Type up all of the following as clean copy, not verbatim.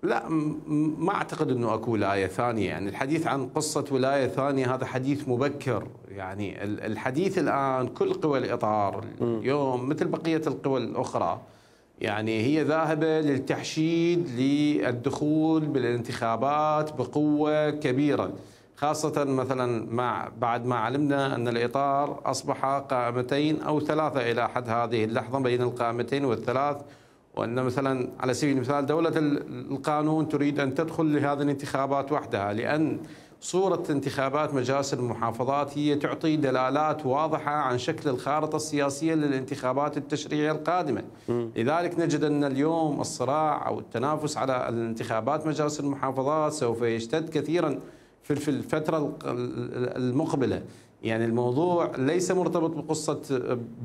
لا، ما اعتقد انه اكو ولايه ثانيه، يعني الحديث عن قصه ولايه ثانيه هذا حديث مبكر، يعني الحديث الان كل قوى الاطار اليوم مثل بقيه القوى الاخرى يعني هي ذاهبه للتحشيد للدخول بالانتخابات بقوه كبيره، خاصه مثلا بعد ما علمنا ان الاطار اصبح قائمتين او ثلاثه الى حد هذه اللحظه بين القائمتين والثلاث، وأن مثلا على سبيل المثال دولة القانون تريد أن تدخل لهذه الانتخابات وحدها، لأن صورة انتخابات مجالس المحافظات هي تعطي دلالات واضحة عن شكل الخارطة السياسية للانتخابات التشريعية القادمة. لذلك نجد أن اليوم الصراع أو التنافس على الانتخابات مجالس المحافظات سوف يشتد كثيرا في الفترة المقبلة. يعني الموضوع ليس مرتبط بقصة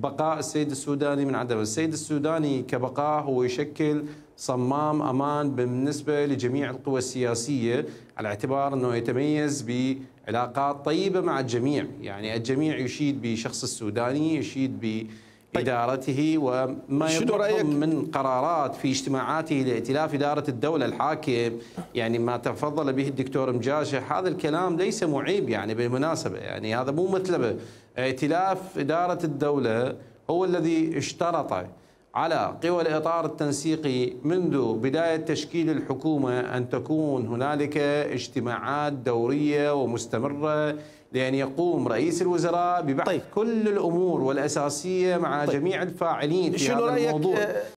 بقاء السيد السوداني من عدم، السيد السوداني كبقاء هو يشكل صمام أمان بالنسبة لجميع القوى السياسية، على اعتبار أنه يتميز بعلاقات طيبة مع الجميع، يعني الجميع يشيد بشخص السوداني، يشيد بإدارته وما يطلقهم من قرارات في اجتماعاته لائتلاف إدارة الدولة الحاكم، يعني ما تفضل به الدكتور مجاشح هذا الكلام ليس معيب يعني بالمناسبة، يعني هذا مو مطلبه. ائتلاف إدارة الدولة هو الذي اشترط على قوى الإطار التنسيقي منذ بداية تشكيل الحكومة أن تكون هنالك اجتماعات دورية ومستمرة لأن يقوم رئيس الوزراء ببحث كل الأمور والأساسية مع جميع الفاعلين في هذا الموضوع.